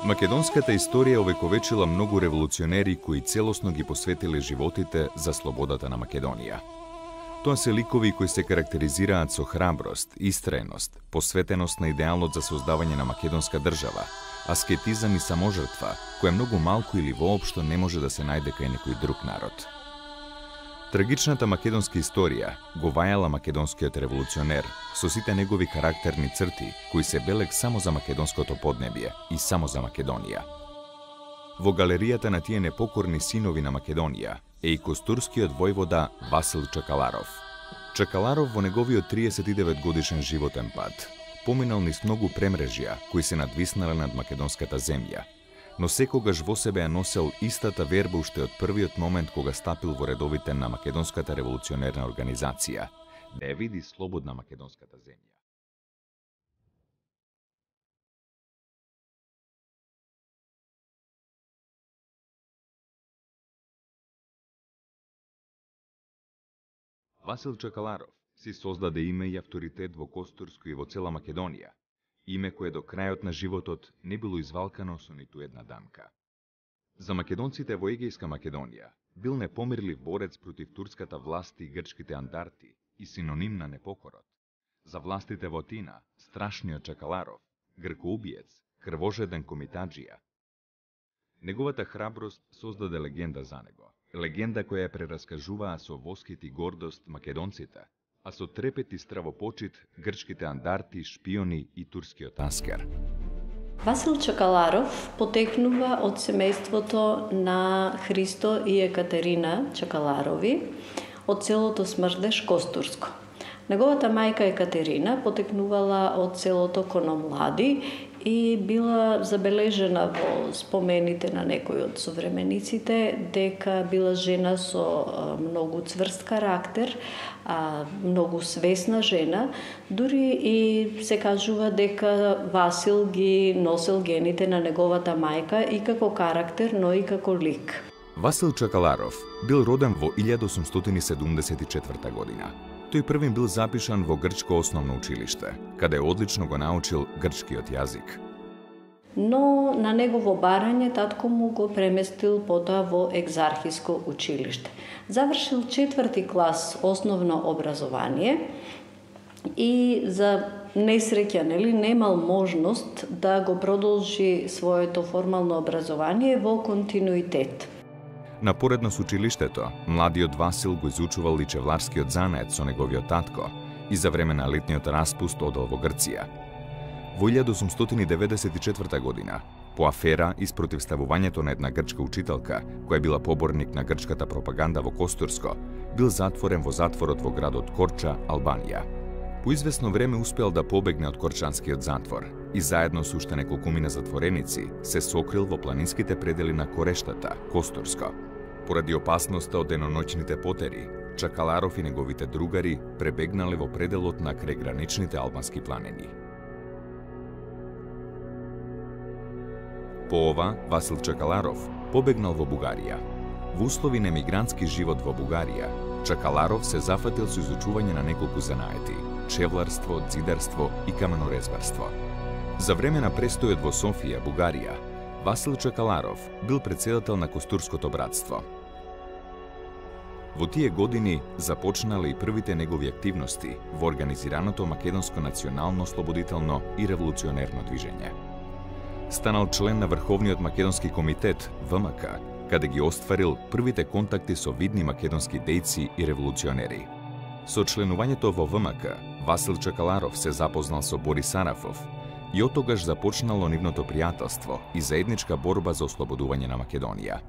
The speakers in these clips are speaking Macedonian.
Македонската историја овековечила многу револуционери кои целосно ги посветиле животите за слободата на Македонија. Тоа се ликови кои се карактеризираат со храброст, истраеност, посветеност на идеалот за создавање на македонска држава, аскетизам и саможртва, која многу малку или воопшто не може да се најде кај некој друг народ. Трагичната македонска историја го вајала македонскиот револуционер со сите негови карактерни црти, кои се белег само за македонското поднебје и само за Македонија. Во галеријата на тие непокорни синови на Македонија е и костурскиот војвода Васил Чакаларов. Чакаларов во неговиот 39 годишен животен пат поминал низ многу премрежја кои се надвиснале над македонската земја, но секогаш во себе ја носел истата верба уште од првиот момент кога стапил во редовите на македонската револуционерна организација, да ја види слободна македонската земја. Васил Чакаларов си создаде име и авторитет во Костурско и во цела Македонија, име кое до крајот на животот не било извалкано со ниту една дамка. За македонците во Егејска Македонија бил непомирлив борец против турската власт и грчките андарти и синоним на непокорот. За властите во Атина, страшниот Чакаларов, гркоубиец, крвожеден комитаджија. Неговата храброст создаде легенда за него. Легенда која ја прераскажуваа со воскит и гордост македонците, а со трепет и стравопочит грчките андарти, шпиони и турскиот аскер. Васил Чакаларов потекнува од семејството на Христо и Екатерина Чакаларови од селото Смрдеш, Костурско. Неговата мајка Екатерина потекнувала од селото Кономлади и била забележена во спомените на некои од современиците дека била жена со многу цврст карактер, многу свесна жена, дури и се кажува дека Васил ги носел гените на неговата мајка и како карактер, но и како лик. Васил Чакаларов бил роден во 1874 година. Тој првин бил запишан во грчко основно училиште, каде одлично го научил грчкиот јазик. Но на негово барање татко му го преместил потоа во екзархиско училиште. Завршил 4 клас основно образование и за несреќа, немал можност да го продолжи своето формално образование во континуитет. Напоредно со училиштето, младиот Васил го изучувал личевларскиот занает со неговиот татко и за време на летниот распуст одел во Грција. Во 1894 година, по афера и спротивставувањето на една грчка учителка, која била поборник на грчката пропаганда во Костурско, бил затворен во затворот во градот Корча, Албанија. По известно време успел да побегне од Корчанскиот затвор и заедно со уште неколкумина затвореници се сокрил во планинските предели на Корештата, Костурско. Поради опасноста од деноноќните потери, Чакаларов и неговите другари пребегнале во пределот на крај граничните албански планини. По ова, Васил Чакаларов побегнал во Бугарија. Во услови на емигрантски живот во Бугарија, Чакаларов се зафатил со изучување на неколку занаети – чевларство, ѕидарство и каменорезбарство. За време на престојот во Софија, Бугарија, Васил Чакаларов бил председател на Костурското братство. Во тие години започнале и првите негови активности во организираното македонско национално слободително и револуционерно движење. Станал член на Врховниот македонски комитет, ВМК, каде ги остварил првите контакти со видни македонски дејци и револуционери. Со членувањето во ВМК, Васил Чакаларов се запознал со Борис Арафов и оттогаш започнало нивното пријателство и заедничка борба за ослободување на Македонија.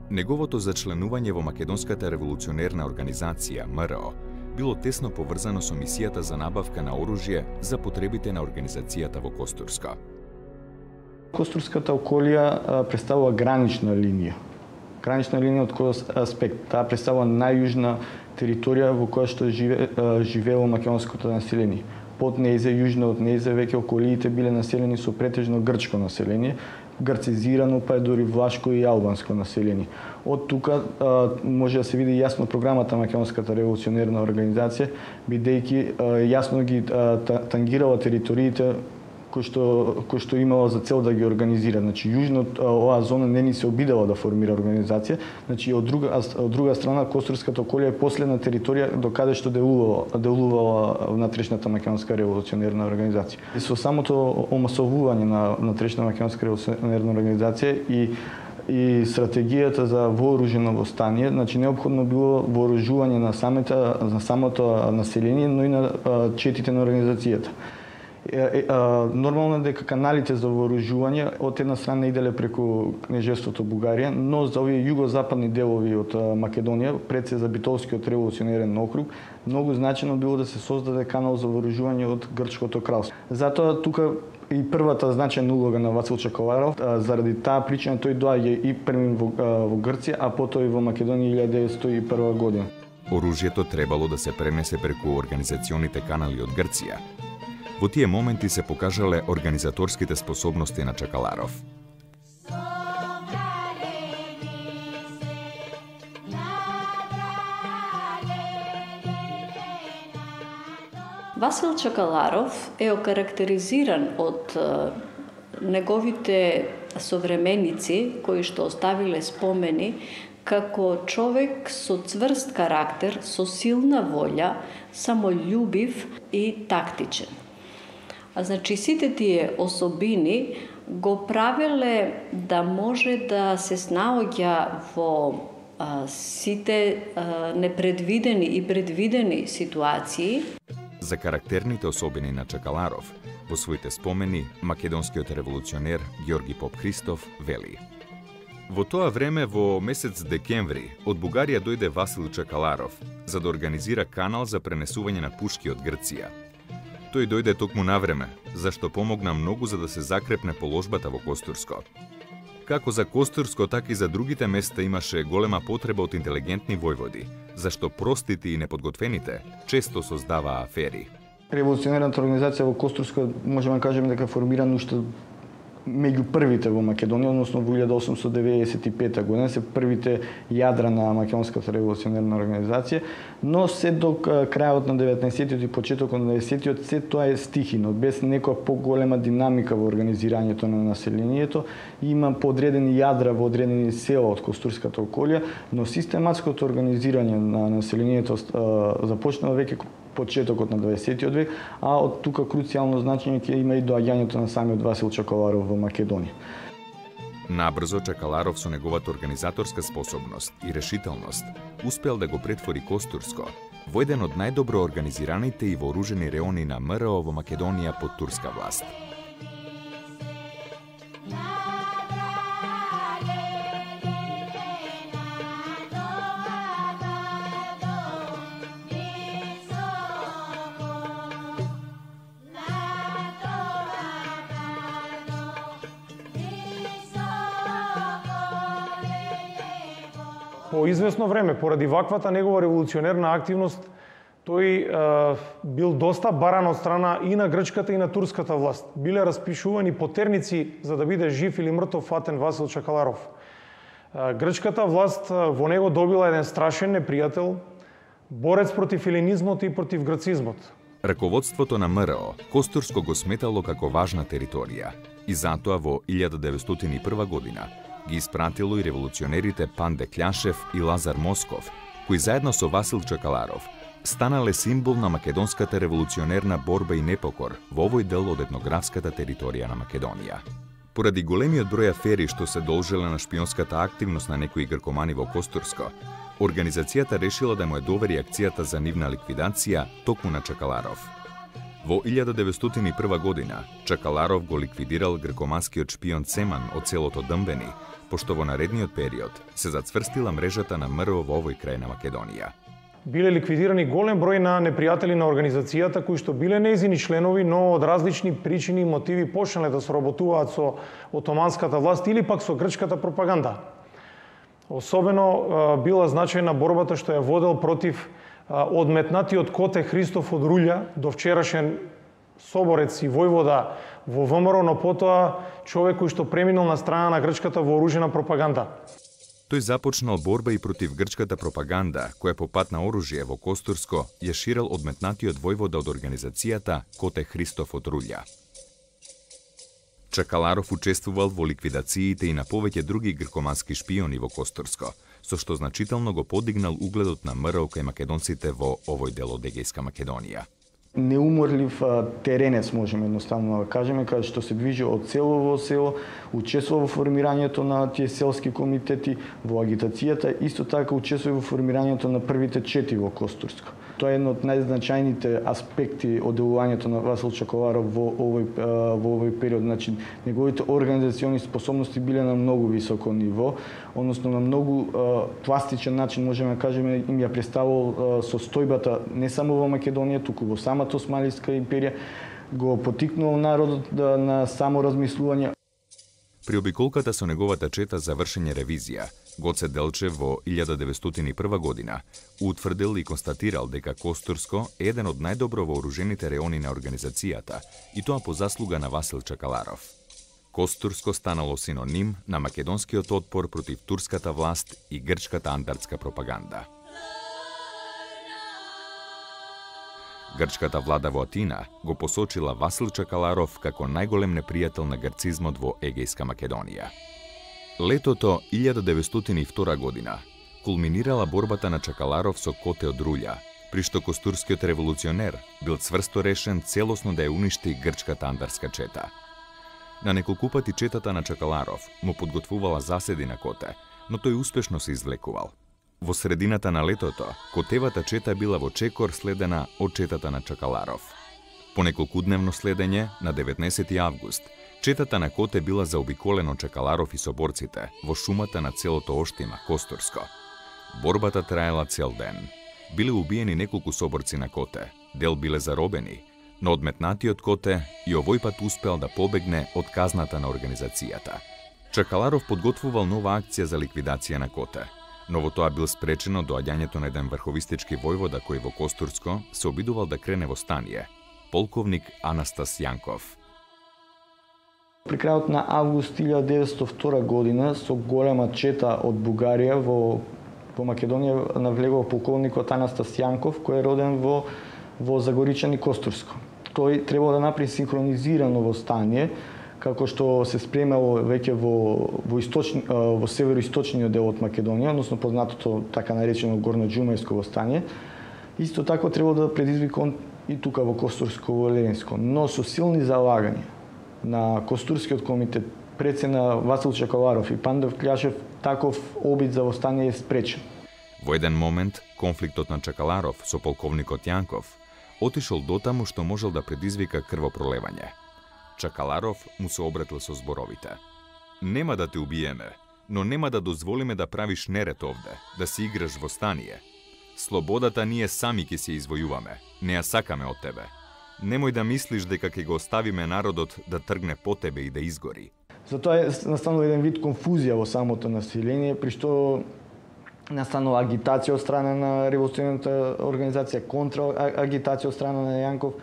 Неговото зачленување во Македонската револуционерна организација, МРО, било тесно поврзано со мисијата за набавка на оружје за потребите на организацијата во Костурско. Костурската околија представува гранична линија. Гранична линија од кој аспект? Таа представува најјужна територија во која што живеело македонското население. Под нејзе, јужно од нејзе, веќе околиите биле населени со претежно грчко население, грцизирано, па е дори влашко и албанско население. Од тука може да се види јасно програмата Македонската револуционерна организација, бидејќи јасно ги тангирала териториите кој што имала за цел да ги организира. Значи, јужно оваа зона не ни се обидела да формира организација. Значи, од друга страна, Костурската околија е последна територија до каде што делувала внатрешната македонска револуционерна организација. И со самото омасовување на внатрешна македонска револуционерна организација и стратегијата за вооружено востание, значи неопходно било вооружување на самото население, но и на четите на организацијата. Нормално е дека каналите за вооружување од една страна иделе преку кнежеството Бугарија, но за овие југозападни делови од Македонија, пред се за Битолскиот револуционерен округ, многу значено било да се создаде канал за вооружување од Грчкото кралство. Затоа тука и првата значајна улога на Васил Чакаларов, заради таа причина тој доаѓа и првим во Грција, а потоа и во Македонија 1901 година. Оружјето требало да се пренесе преку организационите канали од Грција. Во тие моменти се покажале организаторските способности на Чакаларов. Васил Чакаларов е окарактеризиран од неговите современици кои што оставиле спомени како човек со цврст карактер, со силна волја, самољубив и тактичен. Значи, сите тие особини го правеле да може да се снаоѓа во сите непредвидени и предвидени ситуации. За карактерните особини на Чакаларов, во своите спомени, македонскиот револуционер Ѓорги Поп Христов вели: Во тоа време, во месец декември, од Бугарија дојде Васил Чакаларов за да организира канал за пренесување на пушки од Грција. Тој дојде токму на време, зашто помогна многу за да се закрепне положбата во Костурско. Како за Костурско, така и за другите места имаше голема потреба од интелигентни војводи, зашто простите и неподготвените често создаваа афери. Револуционерната организација во Костурско можеме да кажеме дека формирана уште меѓу првите во Македонија, односно во 1895 година се првите јадра на Македонската револуционерна организација, но се до крајот на 19-тиот и почетокот на 20-тиот се тоа е стихино, без некоја поголема динамика во организирањето на населението. Има подредени јадра во одредени села од Костурската околија, но систематското организирање на населението започнува веќе почетокот на 20-тиот век, а од тука круцијално значење ќе има и доаѓањето на самиот Васил Чакаларов во Македонија. Набрзо Чакаларов со неговата организаторска способност и решителност успел да го претвори Костурско во еден од најдобро организираните и вооружени реони на МРО во Македонија под турска власт. По известно време, поради ваквата негова револуционерна активност, тој бил доста баран од страна и на грчката и на турската власт. Биле распишувани потерници за да биде жив или мртов фатен Васил Чакаларов. Грчката власт во него добила еден страшен непријател, борец против елинизмот и против грцизмот. Раководството на МРО Костурско го сметало како важна територија и затоа во 1901 година ги испратило и револуционерите Панде Кљашев и Лазар Москов, кои заедно со Васил Чакаларов станале символ на македонската револуционерна борба и непокор во овој дел од етнографската територија на Македонија. Поради големиот број афери што се должеле на шпионската активност на некои гркомани во Костурско, организацијата решила да му ја довери акцијата за нивна ликвидација токму на Чакаларов. Во 1901 година Чакаларов го ликвидирал гркоманскиот шпион Цеман од селото Дъмбени, пошто во наредниот период се зацврстила мрежата на МРО во овој крај на Македонија. Биле ликвидирани голем број на непријатели на организацијата кои што биле нејзини членови, но од различни причини и мотиви почнале да соработуваат со отоманската власт или пак со грчката пропаганда. Особено била значајна борбата што ја водел против одметнатиот коте Христоф од Рулја, до вчерашен соборец и војвода во ВМРО, но потоа човек кој што преминал на страна на грчката вооружена пропаганда. Тој започнал борба и против грчката пропаганда, која по пат на оружје во Костурско ја ширел одметнатиот војвода од организацијата Коте Христоф од Рулја. Чакаларов учествувал во ликвидациите и на повеќе други гркомански шпиони во Костурско, со што значително го подигнал угледот на ВМРО кај македонците во овој дел од Егејска Македонија. Неуморлив теренец, можеме едноставно да кажеме, каде што се движи од село во село, учествува во формирањето на тие селски комитети, во агитацијата, исто така учествува во формирањето на првите чети во Костурско. Тоа е едно од најзначајните аспекти од делувањето на Васил Чакаларов во овој период. Значи, неговите организациони способности биле на многу високо ниво, односно на многу пластичен начин, можеме да кажеме, им ја представил состојбата не само во Македонија, туку во самата Османлиска империја, го потикнал народот на само размислување. При обиколката со неговата чета за вршење ревизија, Гоце Делчев во 1901 година утврдил и констатирал дека Костурско е еден од најдобро вооружените реони на организацијата, и тоа по заслуга на Васил Чакаларов. Костурско станало синоним на македонскиот отпор против турската власт и грчката андартска пропаганда. Грчката влада во Атина го посочила Васил Чакаларов како најголем непријател на грцизмот во Егејска Македонија. Летото 1902 година кулминирала борбата на Чакаларов со Коте од Рулја, при што костурскиот револуционер бил цврсто решен целосно да ја уништи грчката андарска чета. На неколку пати четата на Чакаларов му подготвувала заседи на Коте, но тој успешно се извлекувал. Во средината на летото, Котевата чета била во чекор следена од четата на Чакаларов. По неколкудневно следење, на 19 август, четата на Коте била заобиколена од Чакаларов и соборците во шумата на целото оштима Костурско. Борбата траела цел ден. Биле убиени неколку соборци на Коте, дел биле заробени, но одметнатиот Коте и овој пат успел да побегне од казната на организацијата. Чакаларов подготвувал нова акција за ликвидација на Коте, но во тоа бил спречено доаѓањето на еден врховистички војвода кој во Костурско се обидувал да крене востание, полковник Анастас Јанков. При крајот на август 1902 година со голема чета од Бугарија во Македонија навлегол полковникот Анастас Јанков, кој е роден во Загоричани Костурско. Тој требал да направи синхронизирано востание, како што се спремало веќе во североисточниот дел од Македонија, односно познатото така наречено горноџумајско востание. Исто така требало да предизвика и тука во Костурско, во Ленинско, но со силни залагања на Костурскиот комитет, прецена Васил Чакаларов и Пандов Кљашев, таков обид за востание е спречен. Во еден момент, конфликтот на Чакаларов со полковникот Јанков отишол дотаму што можел да предизвика крвопролевање. Чакаларов му се обратил со зборовите: "Нема да те убиеме, но нема да дозволиме да правиш неред овде, да си играш востание. Слободата ние сами ќе се извојуваме, не ја сакаме од тебе. Немој да мислиш дека ќе го оставиме народот да тргне по тебе и да изгори." Затоа е настанал еден вид конфузија во самото население, при што настанала агитација од страна на револуционарната организација, контра-агитација од страна на Јанков,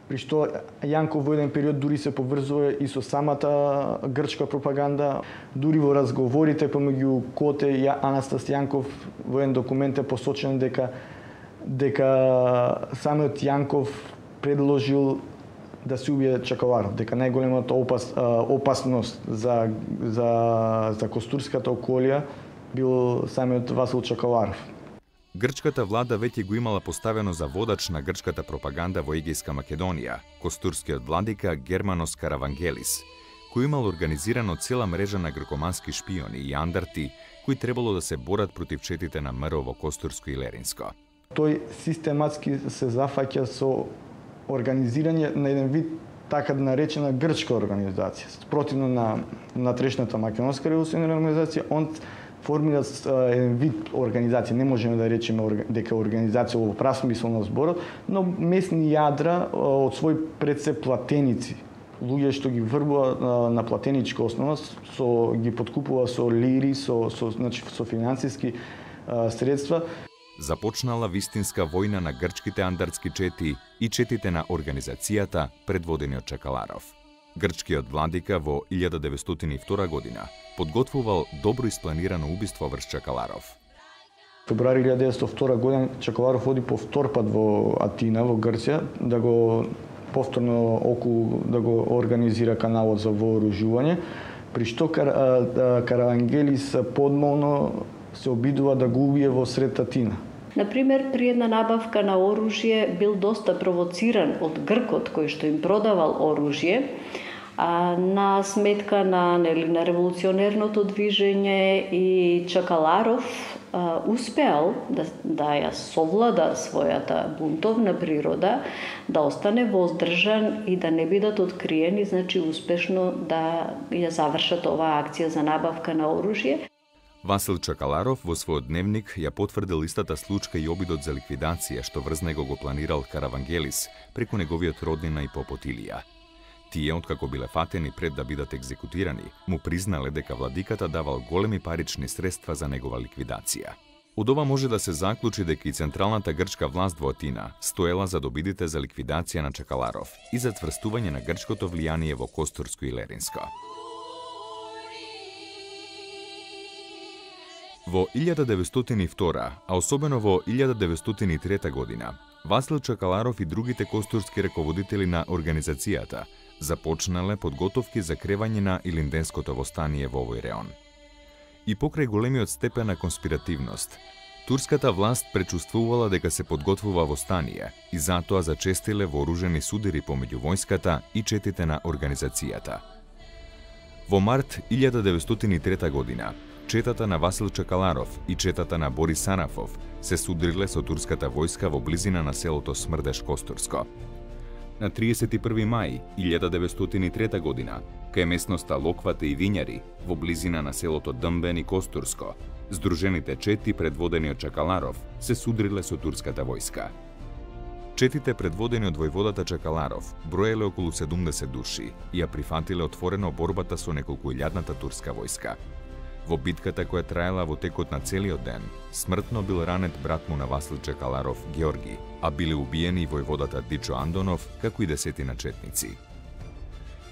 при што Јанков во еден период дури се поврзува и со самата грчка пропаганда. Дури во разговорите помеѓу Коте и Анастас Јанков во еден документ е посочено дека самиот Јанков предложил да се убие Чакаларов, дека најголемата опасност за Костурската околија бил самиот Васил Чакаларов. Грчката влада веќе го имала поставено за водач на грчката пропаганда во Егејска Македонија, костурскиот владика Германос Каравангелис, кој имал организирано цела мрежа на гркомански шпиони и андарти кои требало да се борат против четите на ВМРО во Костурско и Леринско. Тој систематски се зафаќа со организирање на еден вид така наречена грчка организација. Спротивно на трешната македонска револуционарна организација, он формира еден вид организација. Не можеме да речеме дека организација во прав смисол на зборот, но месни јадра од свој пред се платеници. Луѓе што ги врбува на платеничка основа, ги подкупува со лири, со финансиски средства. започнала вистинска војна на грчките андартски чети и четите на организацијата предводени од Чакаларов. Грчкиот владика во 1902 година подготвувал добро испланирано убиство врз Чакаларов. Февруари 1902 година Чакаларов оди повтор пат во Атина, во Грција, да го повторно околу да го организира каналот за вооружување, при што Каравангелис подмолно се обидува да го убие во сред Атина. Например, при една набавка на оружје бил доста провоциран од Гркот кој што им продавал оружје, на сметка на револуционерното движење, и Чакаларов успеал да ја совлада својата бунтовна природа, да остане воздржан и да не бидат откриени, значи успешно да ја завршат оваа акција за набавка на оружје. Васил Чакаларов во својот дневник ја потврдил истата случка и обидот за ликвидација што врз него го планирал Каравангелис преку неговиот роднина и Попотилија. Тие, откако биле фатени пред да бидат екзекутирани, му признале дека владиката давал големи парични средства за негова ликвидација. Од ова може да се заклучи дека и централната грчка власт во Атина стоела за добидите за ликвидација на Чакаларов и за цврстување на грчкото влијание во Костурско и Леринско. Во 1902, а особено во 1903 година, Васил Чакаларов и другите костурски раководители на организацијата започнале подготовки за кревање на Илинденското востание во овој реон. И покрај големиот степен на конспиративност, турската власт пречувствувала дека се подготвува востание и затоа зачестиле вооружени судири помеѓу војската и четите на организацијата. Во март 1903 година, четата на Васил Чакаларов и четата на Борис Сарафов се судриле со турската војска во близина на селото Смрдеш Костурско. На 31 мај 1903 година, кај местноста Локвата и Вињари, во близина на селото Дъмбен и Костурско, здружените чети предводени од Чакаларов се судриле со турската војска. Четите предводени од војводата Чакаларов броеле околу 70 души и ја прифатиле отворено борбата со неколкуилјадната турска војска. Во битката која траела во текот на целиот ден, смртно бил ранет брат му на Васил Чакаларов, Георги, а биле убиени и војводата Дичо Андонов, како и десетина четници.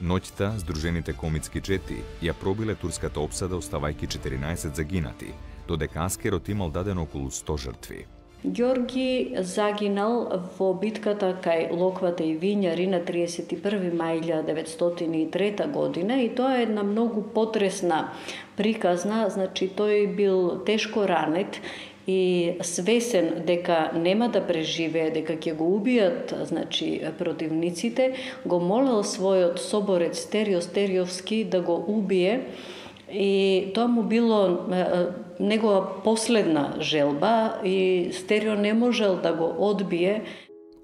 Ноќта, здружените комитски чети ја пробиле турската опсада оставајќи 14 загинати, додека аскерот имал дадено околу 100 жртви. Георги загинал во битката кај Локвата и Вињари на 31. мај 1903 година, и тоа е една многу потресна приказна, значи тој бил тешко ранет и свесен дека нема да преживее, дека ќе го убијат, значи, противниците, го молел својот соборец Стерио Стериовски да го убие, и тоа му било негова последна желба и Стерио не можел да го одбие.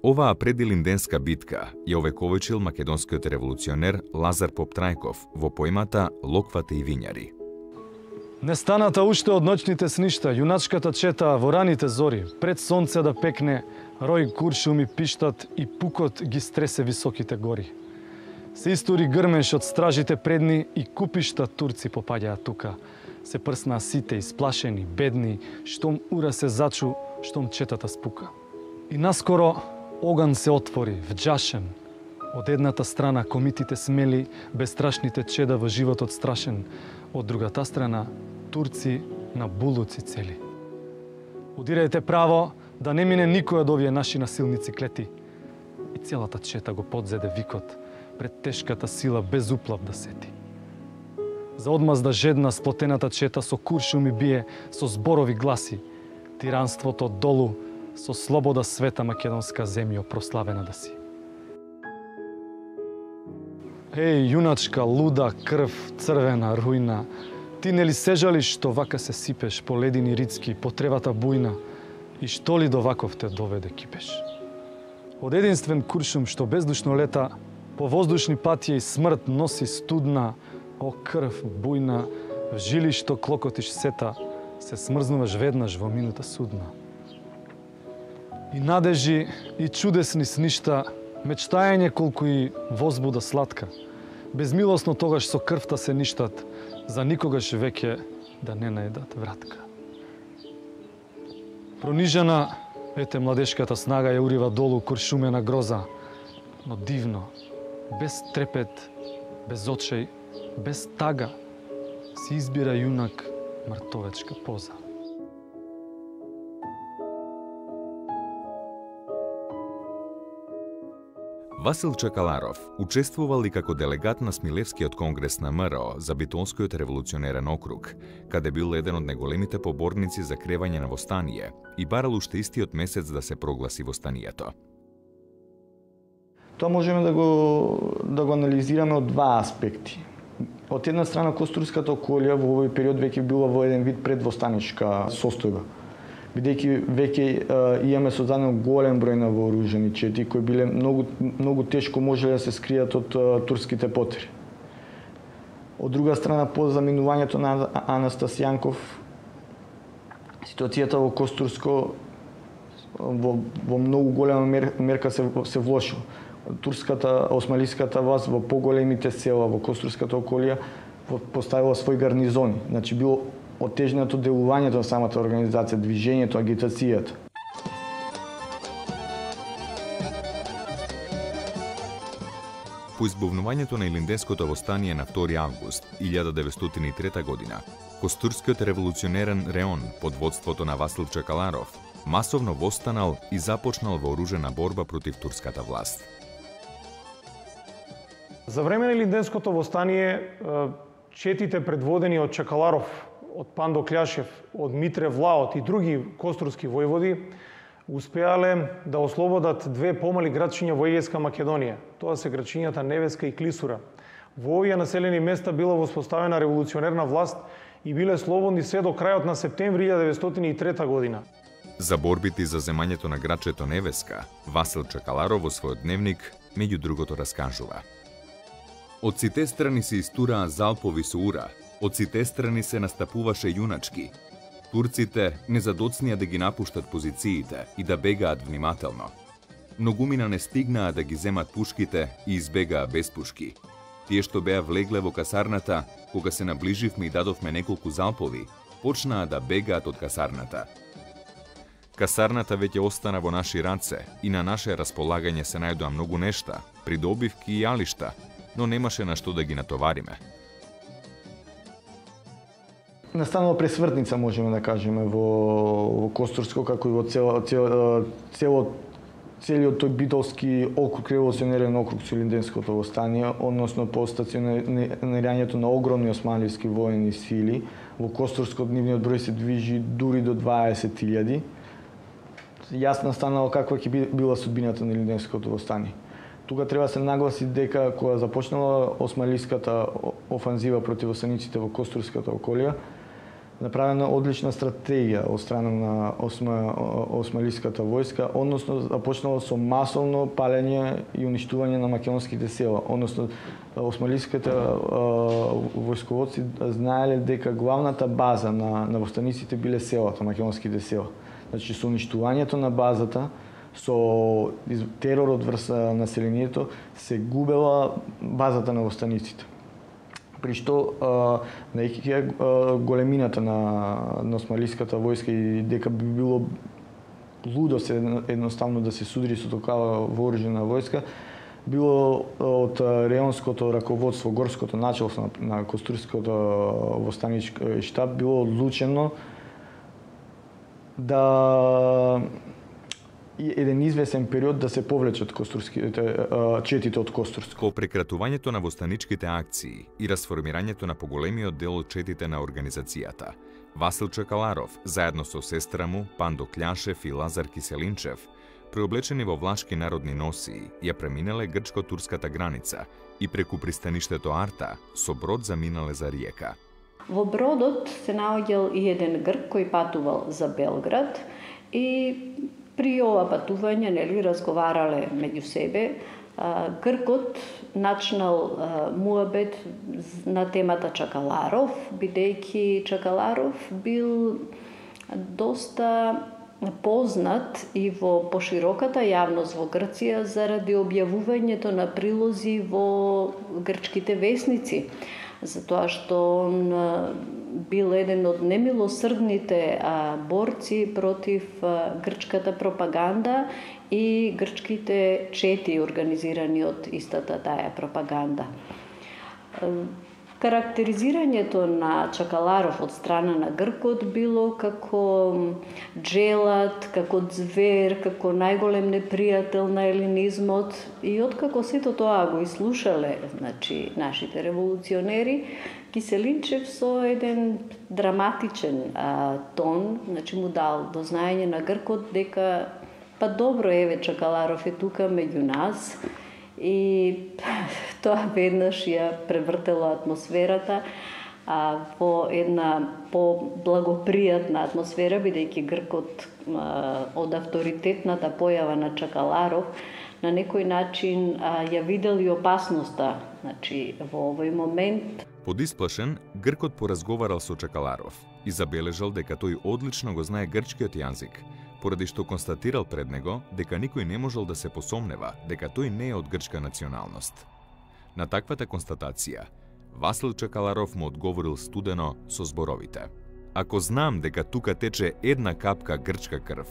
Оваа предилинденска битка ја овековечил македонскиот револуционер Лазар Поптрајков во поемата Локвата и Вињари. Не станата уште од ноќните сништа, јуначката чета во раните зори, пред сонце да пекне, рој куршуми пиштат и пукот ги стресе високите гори. Се истори грмеш од стражите предни и купишта турци попаѓаа тука. Се прснаа сите, исплашени, бедни, штом ура се зачу, штом четата спука. И наскоро оган се отвори, вџашен. Од едната страна комитите смели, бестрашните чеда во животот страшен. Од другата страна турци на булуци цели. Удирајте право, да не мине никој од овие наши насилници клети. И целата чета го подзеде викот, пред тешката сила без уплав да сети. За одмазда жедна сплотената чета со куршуми бие, со зборови гласи, тиранството долу, со слобода света македонска земја прославена да си. Еј, јуначка, луда, крв, црвена, рујна, ти нели се жалиш што вака се сипеш по ледини рицки, по тревата бујна, и што ли до ваков те доведе кипеш? Од единствен куршум што бездушно лета, по воздушни патија и смрт носи студна, о крв бујна, в жили што клокотиш сета, се смрзнуваш веднаш во минута судна. И надежи, и чудесни сништа, мечтаење колку и возбуда сладка. Безмилосно тогаш со крвта се ништат, за никогаш веќе да не најдат вратка. Пронижена, ете младешката снага ја урива долу куршумена гроза, но дивно, без трепет, без очеј, без тага, си избира јунак мртовечка поза. Васил Чакаларов учествувал и како делегат на Смилевскиот конгрес на МРО за Битолскиот револуционерен округ, каде бил еден од најголемите поборници за кревање на востание и барал уште истиот месец да се прогласи востанието. Тоа можеме да го анализираме од два аспекти. Од една страна, Костурската околија во овој период веќе била во еден вид предвостаничка состојба, бидејќи веќе имаме создаден голем број на вооружени чети кои биле многу тешко можеле да се скријат од турските потери. Од друга страна, по заминувањето на Анастас Јанков, ситуацијата во Костурско во многу голема мерка се влошила. Турската, османлиската власт во поголемите села во Костурската околија поставила свој гарнизони. Значи било отежнато делувањето на самата организација, движењето, агитацијата. По избувнувањето на Илинденското востание на 2 август 1903 година, Костурскиот револуционерен реон под водството на Васил Чакаларов масовно востанал и започнал вооружена борба против турската власт. За време на Илинденското востание, четите предводени од Чакаларов, од Пандо Кљашев, од Митре Влаот и други костурски војводи, успеале да ослободат две помали градчиња во Егејска Македонија. Тоа се градчињата Невеска и Клисура. Во овие населени места била воспоставена револуционерна власт и биле слободни се до крајот на септември 1903 година. За борбите за земањето на градчето Невеска, Васил Чакаларов во својот дневник меѓу другото раскажува: Од сите страни се истураа залпови со ура, од сите страни се настапуваше јуначки. Турците не задоцнија да ги напуштат позициите и да бегаат внимателно. Многумина не стигнаа да ги земат пушките и избегаа без пушки. Тие што беа влегле во касарната, кога се наближивме и дадовме неколку залпови, почнаа да бегаат од касарната. Касарната веќе остана во наши раце и на наше располагање се најдоа многу нешта, придобивки и јалишта, но немаше на што да ги натовариме. Настанала пресвртница, можеме да кажеме, во Костурско, како и во целиот тој битолски округ, револуционерен округ со Илинденското востание, односно по стационирањето на огромни османливски воени сили. Во Костурско нивниот број се движи дури до 20.000. Јасно станало каква ќе била судбината на Илинденското востание. Тука треба се нагласи дека кога започнала османлиската офанзива против осаниците во Костурската околија, направена одлична стратегија од страна на османлиската војска, односно започнала со масовно палење и уништување на македонските села. Односно, османлиските војсководци знаеле дека главната база на востаниците биле селата, македонските села. Значи, со уништувањето на базата, со теророт врз населението, се губела базата на востаниците. При што најќи големината на османлиската војска и дека би било лудо едноставно да се судри со такава вооружена војска, било од реонското раководство, горското началство на Костурското востанички штаб, било одлучено да еден извесен период да се повлечат четите од Костурско. По прекратувањето на востаничките акции и расформирањето на поголемиот дел од четите на организацијата, Васил Чакаларов, заедно со сестра му, Пандо Кљашев и Лазар Киселинчев, преоблечени во влашки народни носии, ја преминале грчко-турската граница и преку пристаништето Арта со брод заминале за Риека. Во бродот се наоѓал и еден грк кој патувал за Белград и при ова патување, разговарале меѓу себе. Гркот начнал муабет на темата Чакаларов, бидејќи Чакаларов бил доста познат и во пошироката јавност во Грција заради објавувањето на прилози во грчките весници. затоа што он бил еден од немилосрдните борци против грчката пропаганда и грчките чети организирани од истата таа пропаганда. Карактеризирањето на Чакаларов од страна на Гркот било како джелат, како звер, како најголем непријател на елинизмот, и откако сето тоа го изслушале, нашите револуционери, Киселинчев со еден драматичен тон, му дал до знаење на Гркот дека па добро, еве Чакаларов е тука меѓу нас. И тоа веднаш ја превртело атмосферата во една по-благопријатна атмосфера, бидејќи Гркот од авторитетната појава на Чакаларов на некој начин ја видел и опасноста, во овој момент. Подисплашен, Гркот поразговарал со Чакаларов и забележал дека тој одлично го знае грчкиот јазик, поради што констатирал пред него дека никој не можел да се посомнева дека тој не е од грчка националност. На таквата констатација, Васил Чакаларов му одговорил студено со зборовите: "Ако знам дека тука тече една капка грчка крв,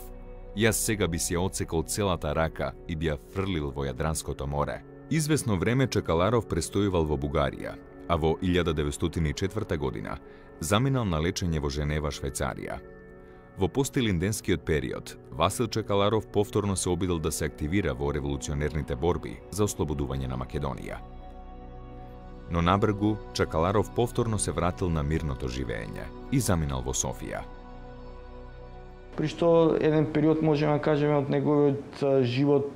јас сега би си ја одсекол целата рака и би ја фрлил во Јадранското море." Извесно време Чакаларов престојувал во Бугарија, а во 1904 година заминал на лечење во Женева, Швајцарија. Во постилинденскиот период, Васил Чакаларов повторно се обидел да се активира во револуционерните борби за ослободување на Македонија. Но набргу, Чакаларов повторно се вратил на мирното живење и заминал во Софија. При што еден период можеме да кажеме од неговиот живот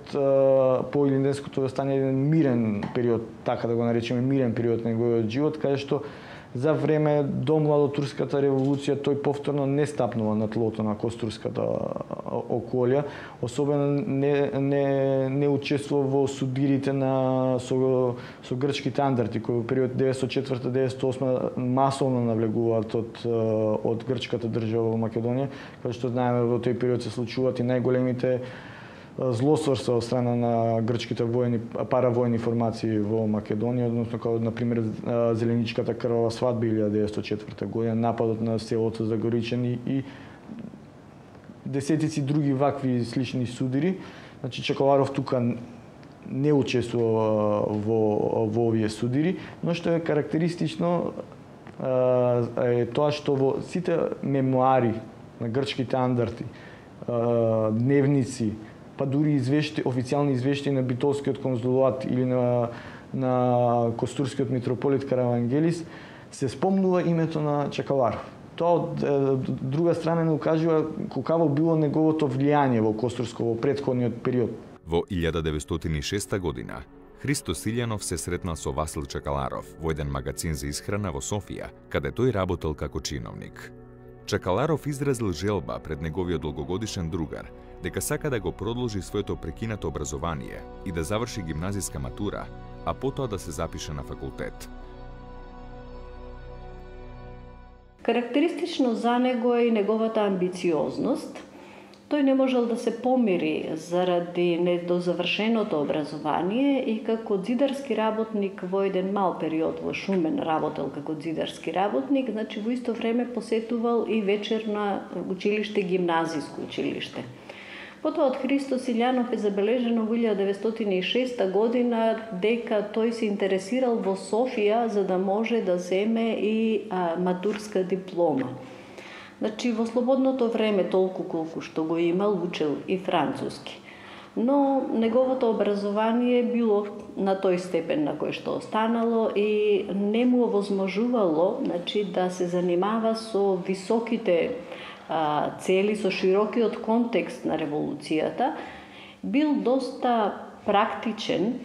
по илинденското стане еден мирен период, така да го наречеме мирен период на неговиот живот, каде што за време до младотурската револуција тој повторно не стапнува на тлото на костурската околја, особено не учествува во судирите со грчките андарти, кои во период 1904-1908 масовно навлегуваат од грчката држава во Македонија, каде што знаеме во тој период се случуваат и најголемите злосторства од страна на грчките паравојни формации во Македонија, односно како например Зеленичката крвава свадба 1904 година, нападот на селото Загоричани и десетици други вакви слични судири. Чакаларов тука не учествува во овие судири, но што е карактеристично е тоа што во сите мемуари на грчките андарти, дневници, па дури официјални извештаи на Битолскиот конзулат или на Костурскиот митрополит Каравангелис, се спомнува името на Чакаларов. Тоа од друга страна не укажува колкаво било неговото влијание во Костурско во претходниот период. Во 1906 година Христо Силјанов се сретнал со Васил Чакаларов во еден магазин за исхрана во Софија, каде тој работел како чиновник. Чакаларов изразил желба пред неговиот долгогодишен другар дека сака да го продолжи своето прекинато образование и да заврши гимназиска матура, а потоа да се запише на факултет. Карактеристично за него е и неговата амбициозност. Тој не можел да се помири заради недозавршеното образование и како зидарски работник во еден мал период во Шумен работел како зидарски работник, во исто време посетувал и вечерно училиште, гимназиско училиште. Потоа од Христо Силјанов е забележено во 1906 година дека тој се интересирал во Софија за да може да земе и матурска диплома. Во слободното време, толку колку што го имал, учел и француски. Но неговото образование било на тој степен на кој што останало и не му овозможувало да се занимава со високите цели, со широкиот контекст на револуцијата. Бил доста практичен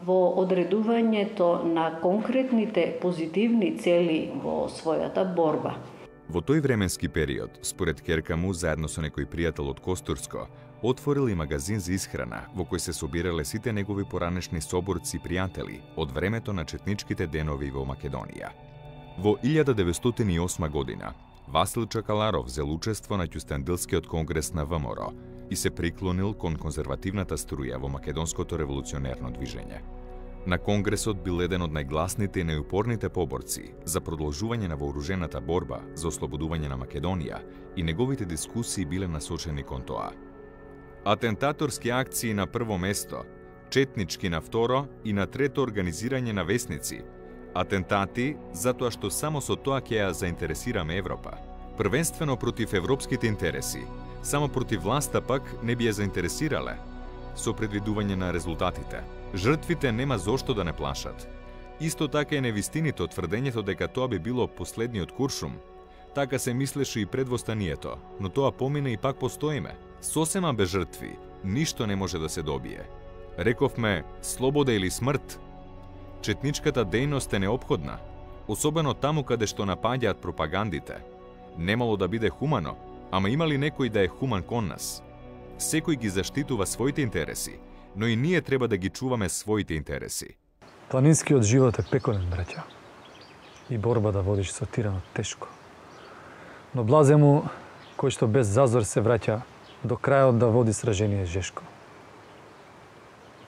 во одредувањето на конкретните позитивни цели во својата борба. Во тој временски период, според ќерка му, заедно со некој пријател од Костурско, отворил и магазин за исхрана во кој се собирале сите негови поранешни соборци пријатели од времето на четничките денови во Македонија. Во 1908 година Васил Чакаларов зел учество на Ќустендилскиот конгрес на ВМРО и се приклонил кон конзервативната струја во македонското револуционерно движење. На Конгресот бил еден од најгласните и најупорните поборци за продолжување на вооружената борба за ослободување на Македонија и неговите дискусии биле насочени кон тоа. Атентаторски акции на прво место, четнички на второ и на трето организирање на весници. Атентати затоа што само со тоа ќе ја заинтересираме Европа. Првенствено против европските интереси, само против власта пак не би ја заинтересирале. Со предвидување на резултатите, жртвите нема зошто да не плашат. Исто така е невистиното тврдењето дека тоа би било последниот Куршум. Така се мислеше и пред востанието, но тоа помина и пак постоиме. Сосема без жртви, ништо не може да се добие. Рековме, слобода или смрт. Четничката дејност е неопходна, особено таму каде што напаѓаат пропагандите. Немало да биде хумано, ама има ли некој да е хуман кон нас? Секој ги заштитува своите интереси, но и ние треба да ги чуваме своите интереси. Планинскиот живот е пеколен, браќа. И борба да водиш со тиранот тешко. Но блазе му кој што без зазор се враќа до крајот да води сражение жешко.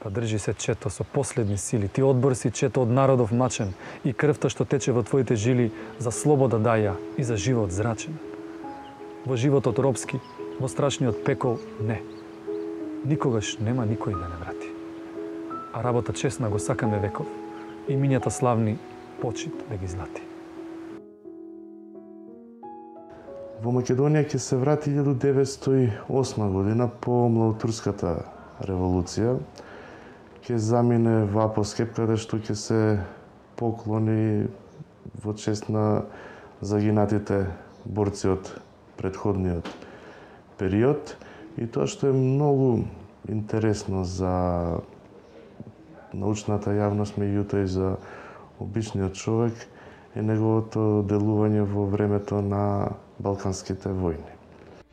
Па држи се, чето, со последни сили. Ти одбор си, чето, од народов мачен и крвта што тече во твоите жили за слобода даја и за живот зрачен. Во животот робски, во страшниот пекол, не. Никогаш нема никој да не врати. А работа честна го сакаме веков и минјата славни почит да ги злати. Во Македонија ќе се врати 1908 година по Младотурската револуција. Ќе замине во Апоскеп, каде што ќе се поклони во чест на загинатите борци од претходниот период. И тоа што е многу интересно за научната јавност, меѓутоа и за обичниот човек, е неговото делување во времето на Балканските војни.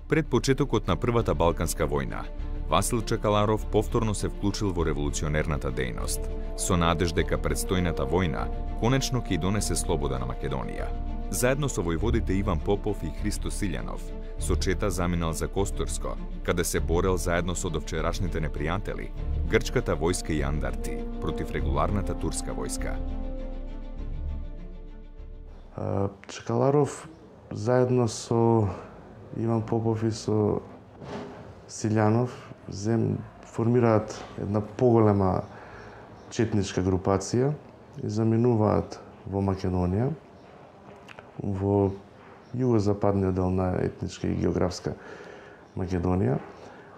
Пред почетокот на Првата Балканска војна, Васил Чакаларов повторно се вклучил во револуционерната дејност, со надеж дека предстојната војна конечно ќе донесе слобода на Македонија. Заедно со војводите Иван Попов и Христо Силјанов, со чета заминал за Костурско, каде се борел заедно со довчерашните непријатели, грчката војска и андарти, против регуларната турска војска. Чакаларов заедно со Иван Попов и со Силјанов формираат една поголема четничка групација и заминуваат во Македонија, во југозападниот дел на етничка и географска Македонија,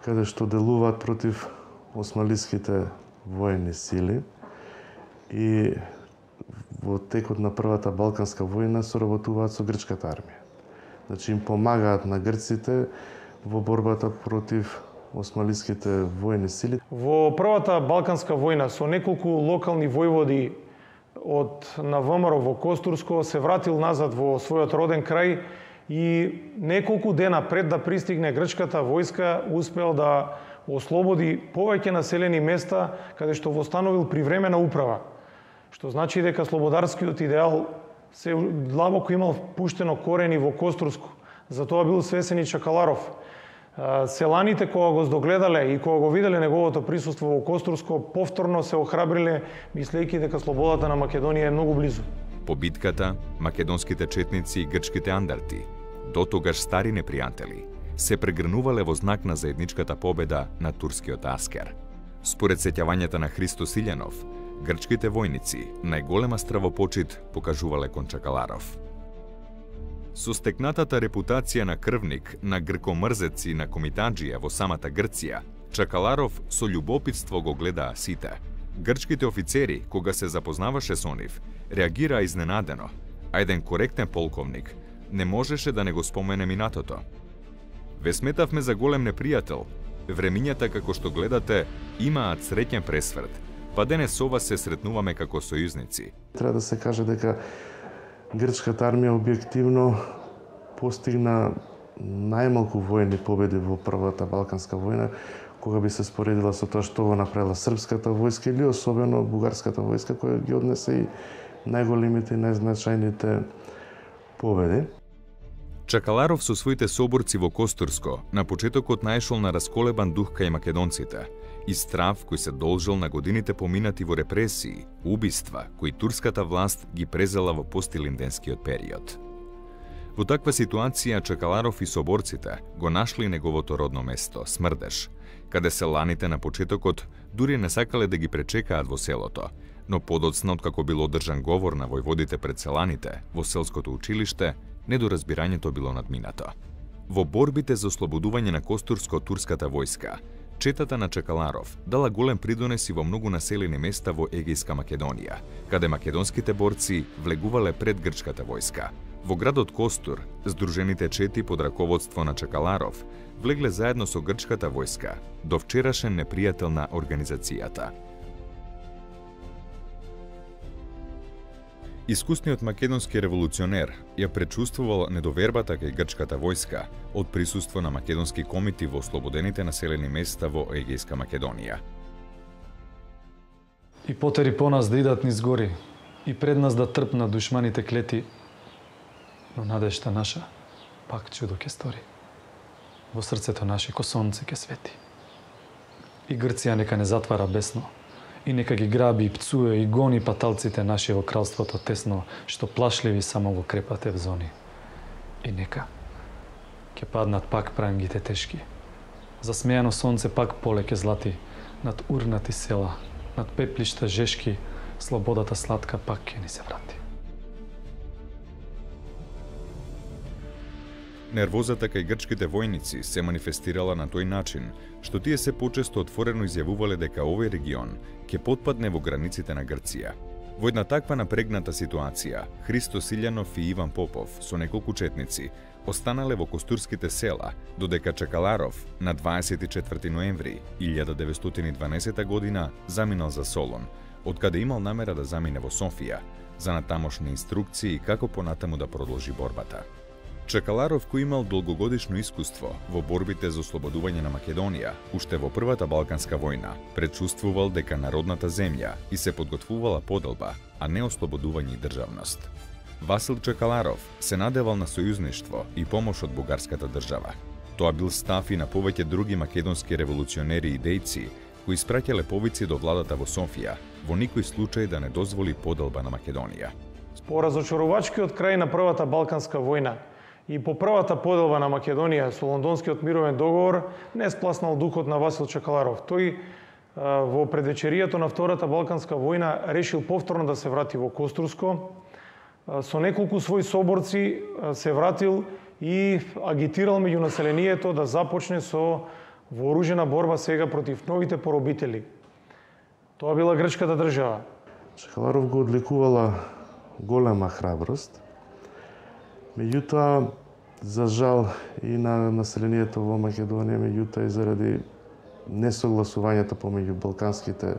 каде што делуваат против османлиските воени сили и во текот на Првата Балканска војна соработуваат со грчката армија. Значи им помагаат на грците во борбата против османлиските воени сили. Во Првата Балканска војна со неколку локални војводи од на ВМРО во Костурско се вратил назад во својот роден крај и неколку дена пред да пристигне грчката војска успел да ослободи повеќе населени места каде што востановил привремена управа. Што значи дека слободарскиот идеал се длабоко имал пуштено корени во Костурско. Затоа бил свесен и Чакаларов. Селаните кога го здогледале и кога го виделе неговото присуство во Костурско, повторно се охрабриле, мислејќи дека слободата на Македонија е многу близу. По битката, македонските четници и грчките андарти, дотогаш стари непријатели, се прегрнувале во знак на заедничката победа на турскиот аскер. Според сеќавањата на Христо Силјанов, грчките војници најголема стравопочит покажувале кон Чакаларов. Со стекнатата репутација на крвник, на гркомрзец и на комитаджија во самата Грција, Чакаларов со љубопитство го гледаа сите. Грчките офицери, кога се запознаваше со нив, реагираа изненадено, а еден коректен полковник не можеше да не го спомене минатото. Ве сметавме за голем непријател. Времињата, како што гледате, имаат среќен пресврт, па денес ова се сретнуваме како сојузници. Треба да се каже дека грчката армија објективно постигна најмалку војни победи во Првата Балканска војна, кога би се споредила со тоа што го направила српската војска или особено бугарската војска, која ги однесе и најголемите и најзначајните победи. Чакаларов со своите соборци во Костурско на почетокот наешол на расколебан дух кај македонците и страв кој се должел на годините поминати во репресии, убиства кои турската власт ги презела во постилинденскиот период. Во таква ситуација Чакаларов и соборците го нашли неговото родно место, Смрдеш, каде селаните на почетокот дури не сакале да ги пречекаат во селото, но подоцна откако бил одржан говор на војводите пред селаните во селското училиште, недоразбирањето било надминато. Во борбите за ослободување на Костурско од турската војска, четата на Чакаларов дала голем придонес и во многу населени места во Егејска Македонија, каде македонските борци влегувале пред грчката војска. Во градот Костур, здружените чети под раководство на Чакаларов влегле заедно со грчката војска, до вчерашен непријател на организацијата. Искусниот македонски револуционер ја пречувствувал недовербата кај грчката војска од присуство на македонски комити во ослободените населени места во Егејска Македонија. И потери по нас да идат низ гори, и пред нас да трпнат душманите клети, но надежта наша пак чудо ке стори. Во срцето наше ко сонце ке свети. И Грција нека не затвара бесно, и нека ги граби и пцуе и гони паталците наши во кралството тесно, што плашливи само во крепате в зони. И нека ке паднат пак прангите тешки. Засмејано сонце пак поле ке злати, над урнати села, над пеплишта жешки, слободата сладка пак ке ни се врати. Нервозата кај грчките војници се манифестирала на тој начин, што тие се почесто отворено изјавувале дека овој регион ќе потпадне во границите на Грција. Во една таква напрегната ситуација, Христо Силјанов и Иван Попов со неколку четници останале во костурските села, додека Чакаларов на 24 ноември 1912 година заминал за Солун, откаде имал намера да замине во Софија, за натамошни инструкции како понатаму да продолжи борбата. Чакаларов, кој имал долгогодишно искуство во борбите за ослободување на Македонија, уште во Првата Балканска војна, пречувствувал дека народната земја и се подготвувала поделба, а не ослободување и државност. Васил Чакаларов се надевал на сојузништво и помош од бугарската држава. Тоа бил став и на повеќе други македонски револуционери и дејци, кои испраќале повици до владата во Софија, во никој случај да не дозволи поделба на Македонија. По разочарувачкиот крај на Првата Балканска војна и по првата поделба на Македонија со Лондонскиот мировен договор не спласнал духот на Васил Чакаларов. Тој во предвечеријето на Втората Балканска војна решил повторно да се врати во Костурско. Со неколку своји соборци се вратил и агитирал меѓу населението да започне со вооружена борба сега против новите поробители. Тоа била грчката држава. Чакаларов го одликувала голема храброст. Меѓутоа, за жал и на населението во Македонија, меѓутоа и заради несогласувањето помеѓу балканските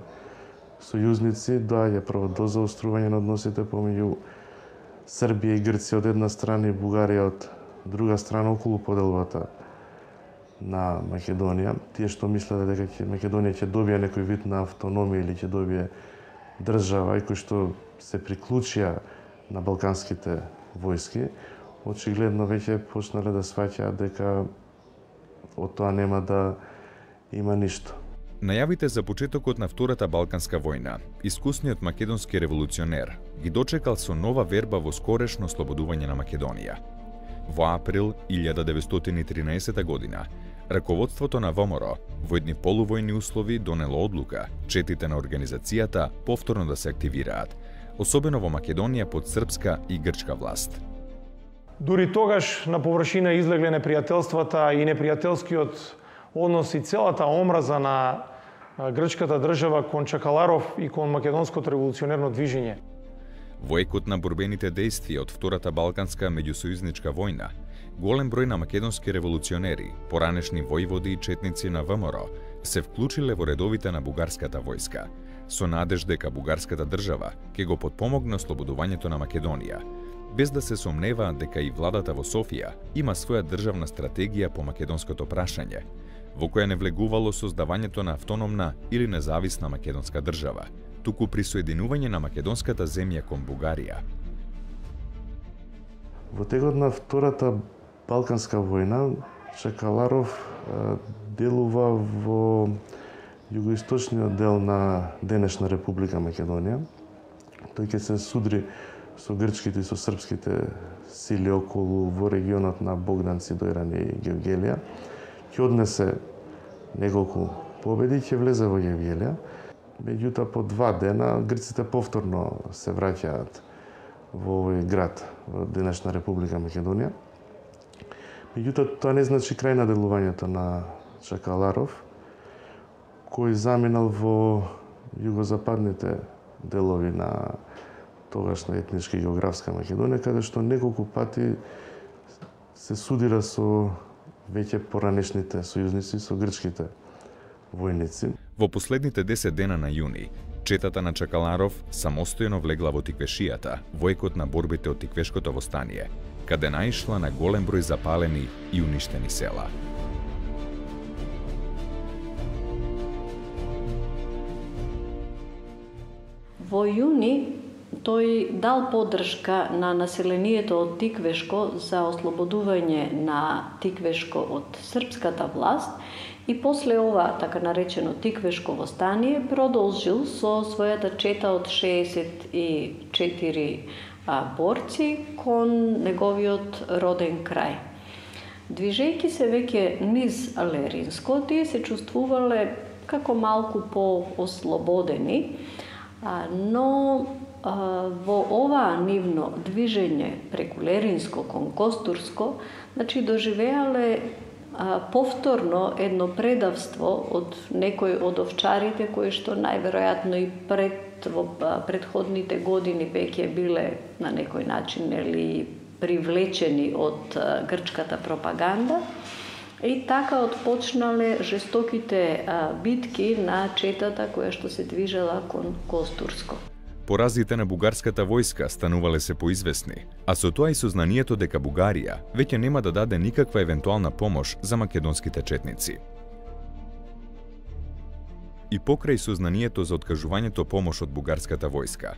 сојузници, доаѓа прво до заострување на односите помеѓу Србија и Грција од една страна и Бугарија од друга страна околу поделбата на Македонија. Тие што мислеле дека Македонија ќе добие некој вид на автономија или ќе добие држава и кои што се приклучија на балканските војски, очигледно веќе почнале да сваќаат дека од тоа нема да има ништо. Најавите за почетокот на Втората Балканска војна, искусниот македонски револуционер ги дочекал со нова верба во скорешно ослободување на Македонија. Во април 1913 година, раководството на ВМРО во едни полувојни услови донело одлука четите на организацијата повторно да се активираат, особено во Македонија под српска и грчка власт. Дури тогаш на површина излегле непријателствата и непријателскиот однос и целата омраза на грчката држава кон Чакаларов и кон македонското револуционерно движење. Во екот на борбените дејствија од Втората Балканска меѓусојузничка војна, голем број на македонски револуционери, поранешни војводи и четници на ВМРО, се вклучиле во редовите на бугарската војска, со надеж дека бугарската држава ќе го потпомогне ослободувањето на Македонија, без да се сомневаат дека и владата во Софија има своја државна стратегија по македонското прашање, во која не влегувало создавањето на автономна или независна македонска држава, туку присоединување на македонската земја кон Бугарија. Во текот на Втората Балканска војна Чекаларов делува во југоисточниот дел на денешна Република Македонија. Тој ќе се судри со грчките и со српските сили околу во регионот на Богданци, Дојран и Гевгелија. Ќе однесе неколку победи, ќе влезе во Гевгелија. Меѓутоа, по 2 дена, грците повторно се враќаат во овој град, во денешна Република Македонија. Меѓутоа, тоа не значи крај на делувањето на Чекаларов, кој заминал во југозападните делови на тогашна етничка и географска Македонија, каде што неколку пати се судира со веќе поранешните сојузници, со грчките војници. Во последните 10 дена на јуни, четата на Чекаларов самостојно влегла во Тиквешијата, во екот на борбите од Тиквешкото востание, каде наишла на голем број запалени и уништени села. Во јуни тој дал поддршка на населението од Тиквешко за ослободување на Тиквешко од српската власт и после ова, така наречено Тиквешко востание, продолжил со својата чета од 64 борци кон неговиот роден крај. Движејќи се веќе низ Леринско, тие се чувствувале како малку по-ослободени, но во ова нивно движење преку Леринско кон Костурско, значи доживеале повторно едно предавство од некој од овчарите кои што најверојатно и во претходните години веќе биле на некој начин привлечени од грчката пропаганда. И така отпочнале жестоките битки на четата која што се движела кон Костурско. Поразите на бугарската војска станувале се поизвестни, а со тоа и сознанието дека Бугарија веќе нема да даде никаква евентуална помош за македонските четници. И покрај сознанието за откажувањето помош од бугарската војска,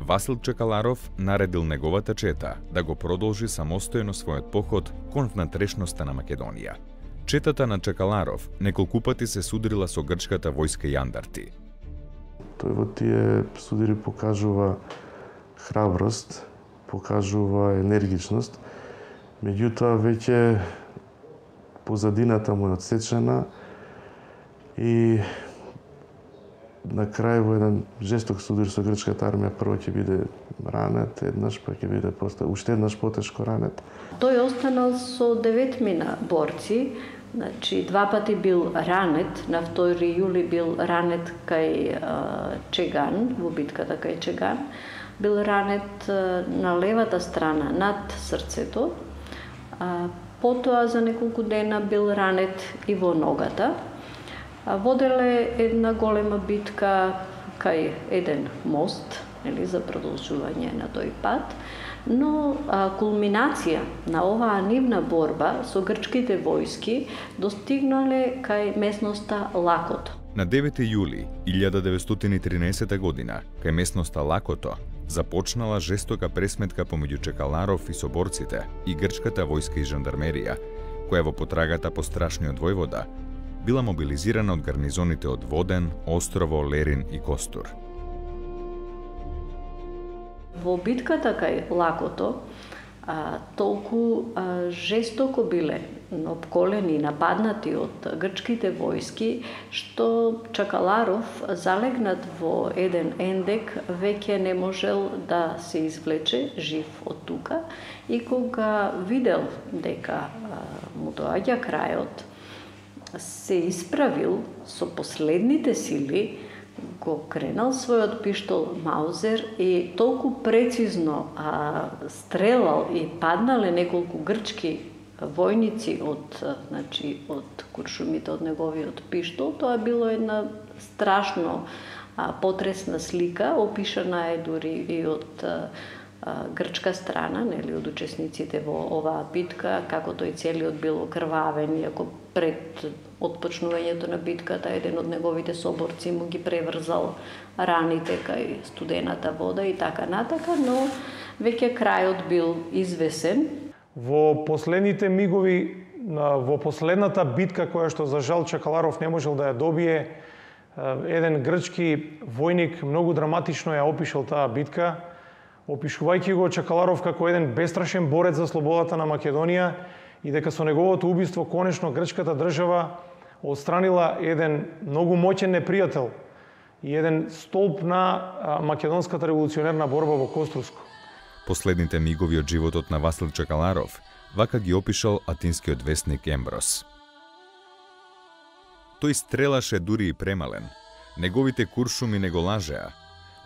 Васил Чекаларов наредил неговата чета да го продолжи самостојно својот поход кон внатрешноста на Македонија. Четата на Чекаларов неколку пати се судрила со грчката војска и андарти. Тој во тие судири покажува храброст, покажува енергичност, меѓутоа веќе позадината му е одсечена и на крај во еден жесток судир со грчката армија прво ќе биде ранет еднаш, па ќе биде уште еднаш потешко ранет. Тој останал со 9 борци. Значи, 2 пати бил ранет, на 2 јули бил ранет кај Чеган, во битката кај Чеган. Бил ранет на левата страна над срцето. Потоа за неколку дена бил ранет и во ногата. Воделе една голема битка кај еден мост, за продолжување на тој пат. Но кулминација на оваа нивна борба со грчките војски достигнале кај местноста Лакото. На 9 јули 1913 година, кај местноста Лакото, започнала жестока пресметка помеѓу Чекаларов и соборците и грчката војска и жандармерија, која во потрагата по страшниот војвода била мобилизирана од гарнизоните од Воден, Острово, Лерин и Костур. Во битката кај Лакото толку жестоко биле обколени и нападнати од грчките војски, што Чекаларов, залегнат во еден ендек, веќе не можел да се извлече жив од тука и кога видел дека му доаѓа крајот, се исправил со последните сили, го кренал својот пиштол Маузер и толку прецизно стрелал и паднале неколку грчки војници од куршумите од неговиот пиштол. Тоа било една страшно потресна слика, опишана е дури и од грчка страна, од учесниците во оваа битка, како тој целиот бил окрвавен, иако пред отпочнувањето на битката еден од неговите соборци му ги преврзал раните кај студената вода и така натака, но веќе крајот бил извесен. Во последните мигови, во последната битка која што за жал Чакаларов не можел да ја добие, еден грчки војник многу драматично ја опишал таа битка, опишувајќи го Чакаларов како еден бестрашен борец за слободата на Македонија и дека со неговото убиство конечно грчката држава отстранила еден многу моќен непријател и еден столб на македонската револуционерна борба во Коструско. Последните мигови од животот на Васил Чакаларов вака ги опишал атинскиот весник Емброс. Тој стрелаше дури и премален. Неговите куршуми не го лажеа.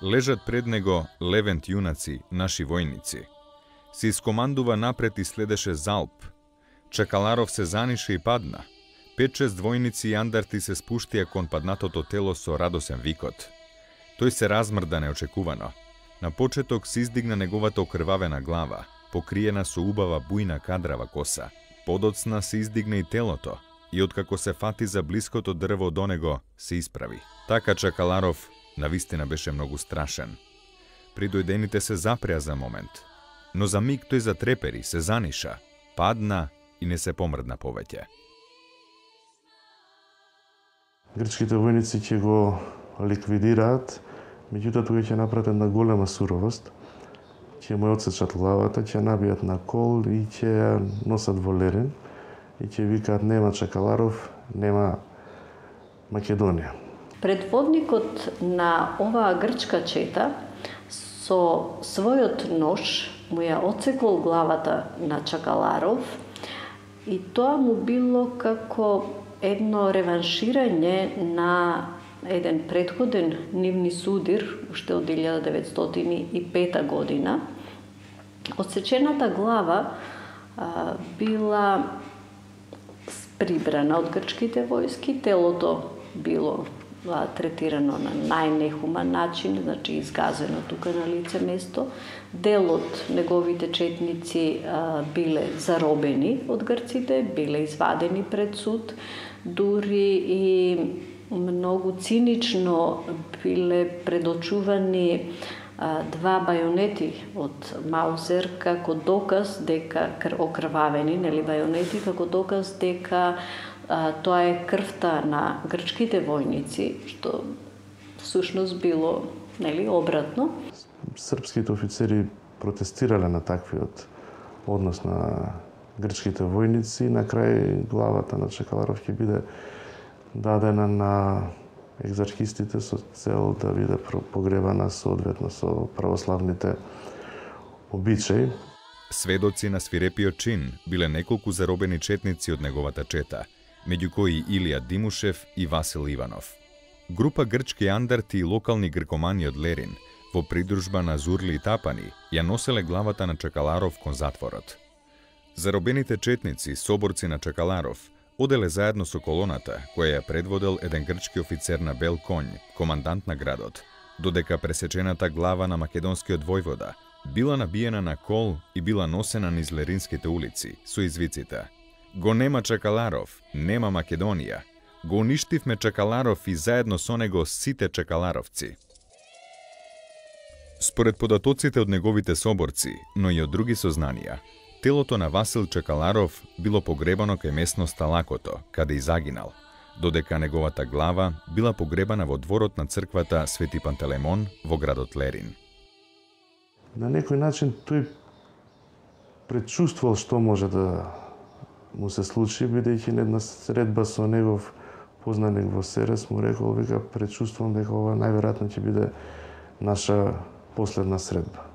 Лежат пред него левент јунаци, наши војници. Се искомандува напред и следеше залп. Чакаларов се занише и падна. 5-6 војници и андарти се спуштија кон паднатото тело со радосен викот. Тој се размрда неочекувано. На почеток се издигна неговата окрвавена глава, покриена со убава бујна кадрава коса. Подоцна се издигна и телото, и откако се фати за блиското дрво до него, се исправи. Така Чакаларов навистина беше многу страшен. Придојдените се запреа за момент, но за миг тој затрепери, се заниша, падна и не се помрдна повеќе. Грчките војници ќе го ликвидираат, меѓутоа тој ќе направат една голема суровост, ќе му отсечат главата, ќе набијат на кол и ќе ја носат во Лерин и ќе викаат нема Чакаларов, нема Македонија. Предводникот на оваа грчка чета со својот нож му ја отсекол главата на Чакаларов и тоа му било како едно реванширање на еден претходен нивни судир, уште од 1905 година. Отсечената глава била прибрана од грчките војски, телото било третирано на најнехуман начин, значи изгазено тука на лице место. Дел од неговите четници биле заробени од грците, биле извадени пред суд, дури и многу цинично биле предочувани 2 бајонети од Маузер како доказ дека окрвавени, нели бајонети, како доказ дека тоа е крвта на грчките војници, што всушност било, нели, обратно. Српските офицери протестирале на таквиот однос на грчките војници. На крај главата на Чакаларов ќе биде дадена на екзархистите со цел да биде погребана соодветно со православните обичаи. Сведоци на свирепиот чин биле неколку заробени четници од неговата чета, меѓу кои Илија Димушев и Васил Иванов. Група грчки андарти и локални гркомани од Лерин, во придружба на Зурли и Тапани, ја носеле главата на Чакаларов кон затворот. Заробените четници, соборци на Чакаларов, оделе заедно со колоната, која ја предводел еден грчки офицер на бел конј, командант на градот, додека пресечената глава на македонскиот војвода била набиена на кол и била носена низ леринските улици со извиците: "Го нема Чакаларов, нема Македонија. Го уништивме Чакаларов и заедно со него сите чакаларовци." Според податоците од неговите соборци, но и од други сознанија, телото на Васил Чакаларов било погребано кај местноста Лакото, каде и загинал, додека неговата глава била погребана во дворот на црквата Свети Пантелеймон во градот Лерин. На некој начин тој предчувствувал што може да му се случи, бидејќи на една средба со негов познаник во Серес му рекол, вика, предчувствувам дека ова најверојатно ќе биде наша последна средба.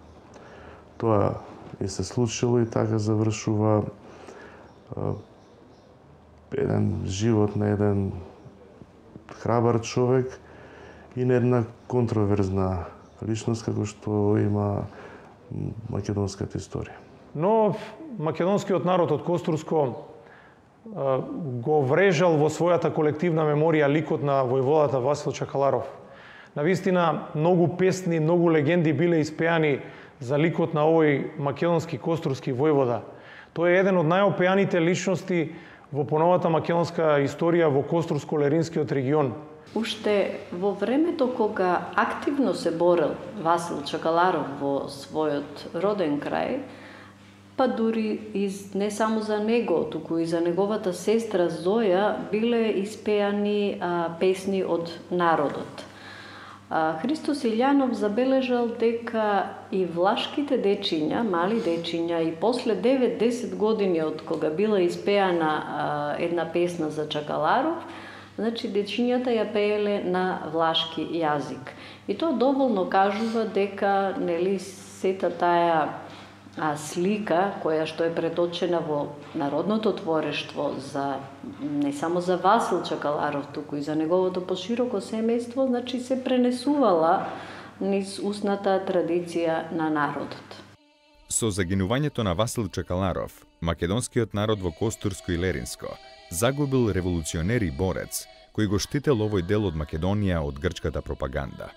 Тоа и се случило и така завршува еден живот на еден храбар човек и на една контроверзна личност како што има македонската историја. Но македонскиот народ од Коструско го врежал во својата колективна меморија ликот на војводата Васил Чакаларов. Навистина, многу песни, многу легенди биле испеани за ликот на овој македонски костурски војвода. Тој е еден од најопеаните личности во поновата македонска историја во Коструско-Леринскиот регион. Уште во времето кога активно се борел Васил Чакаларов во својот роден крај, па дури не само за него, туку и за неговата сестра Зоја биле испеани песни од народот. Христос Илјанов забележал дека и влашките дечиња, мали дечиња, и после 9-10 години од кога била испеана една песна за Чакаларов, значи дечињата ја пееле на влашки јазик. И тоа доволно кажува дека сета таа слика која што е преточена во народното творештво не само за Васил Чакаларов, туку и за неговото пошироко семејство, значи се пренесувала низ устната традиција на народот. Со загинувањето на Васил Чакаларов, македонскиот народ во Костурско и Леринско загубил револуционер и борец кој го штител овој дел од Македонија од грчката пропаганда.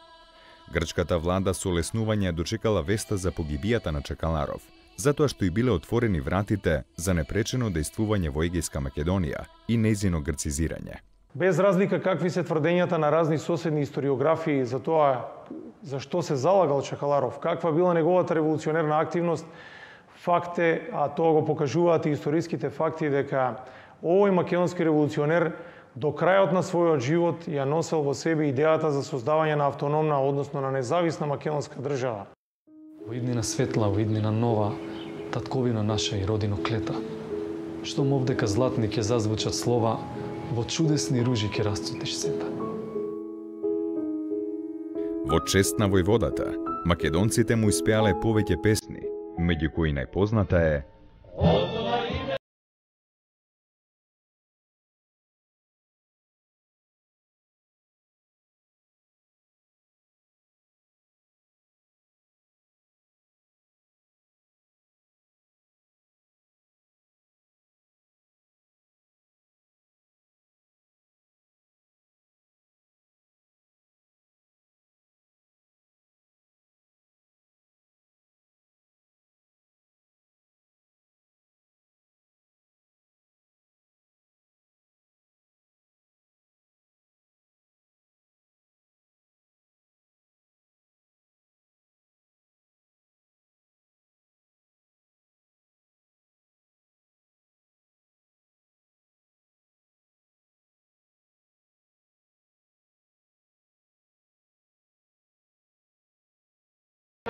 Грчката влада со олеснување дочекала веста за погибијата на Чакаларов, затоа што и биле отворени вратите за непречено дејствување во Егејска Македонија и нејзино грцизирање. Без разлика какви се тврдењата на разни соседни историографии за тоа за што се залагал Чакаларов, каква била неговата револуционерна активност, факт е, а тоа го покажуваат и историските факти, дека овој македонски револуционер до крајот на својот живот ја носел во себе идејата за создавање на автономна, односно на независна македонска држава. Во иднина светла, во иднина нова, татковина наша и родино клета. Што овдека златни ќе зазвучат слова, во чудесни ружи ќе расцутиш сета. Во чест на војводата, македонците му испеале повеќе песни, меѓу кои најпозната е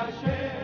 Naše